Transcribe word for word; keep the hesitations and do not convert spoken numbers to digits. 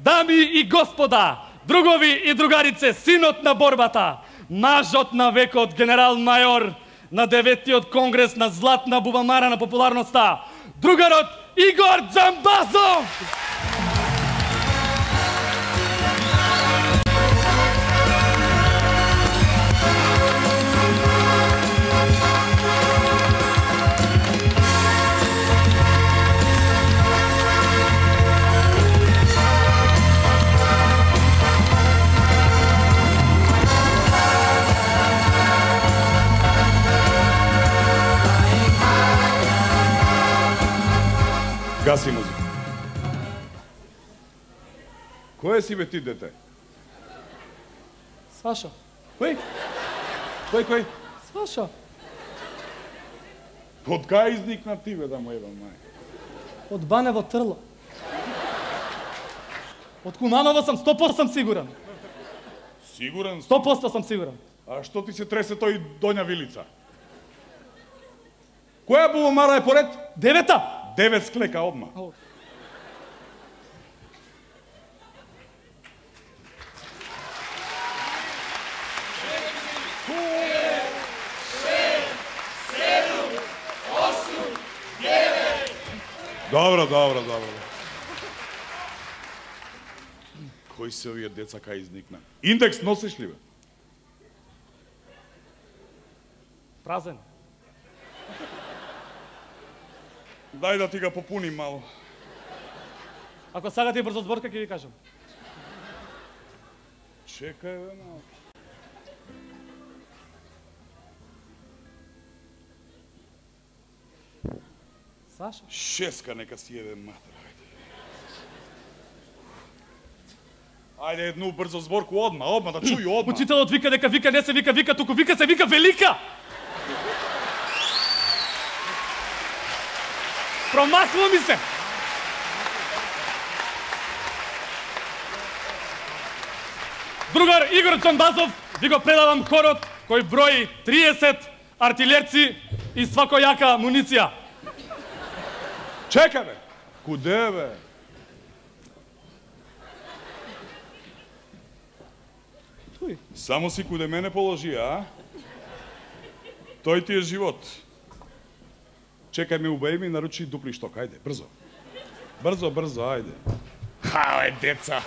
Дами и господа, другови и другарице, синот на борбата, мажот на векот, генерал-мајор на деветиот конгрес на златна бубамара на популарноста, другарот Игор Џамбазов! Гаси музика. Кој си бе ти, дете? Саша. Кој? Кој, кој? Саша. Од кај изникна ти, бе, да му ебам, мај? Од Банево Трло. Од Куманово сам сто проценти сам сигурен. Сигурен? сто проценти сам сигурен. А што ти се тресе тој Доња Вилица? Која бубамара е поред? Девета. Девет склека одма. Добро, добро, добро. Кои се овие деца кај изникна? Индекс носиш ли, бе? Празен. Дај да ти го попуним мало. Ако сагате брзо зборка, ќе ви кажам. Чекај, бе, мало. Саша? Шеска нека си еде матер, ајде. Ајде, едну брзо зборку одма, одма, да чују одма. Учителот вика дека вика, не се вика вика, туку вика се вика велика. Промасло ми се. Другар Игор Џамбазов, ви го предавам хорот кој брои триесет артилерци и свакојака муниција. Чека, бе! Куде, бе? Тој. Само си куде мене положи, а? Тој ти е живот. Чекај ме, убај ми, наручи дупли шток, ајде, брзо. Брзо, брзо, ајде. Хао е, деца!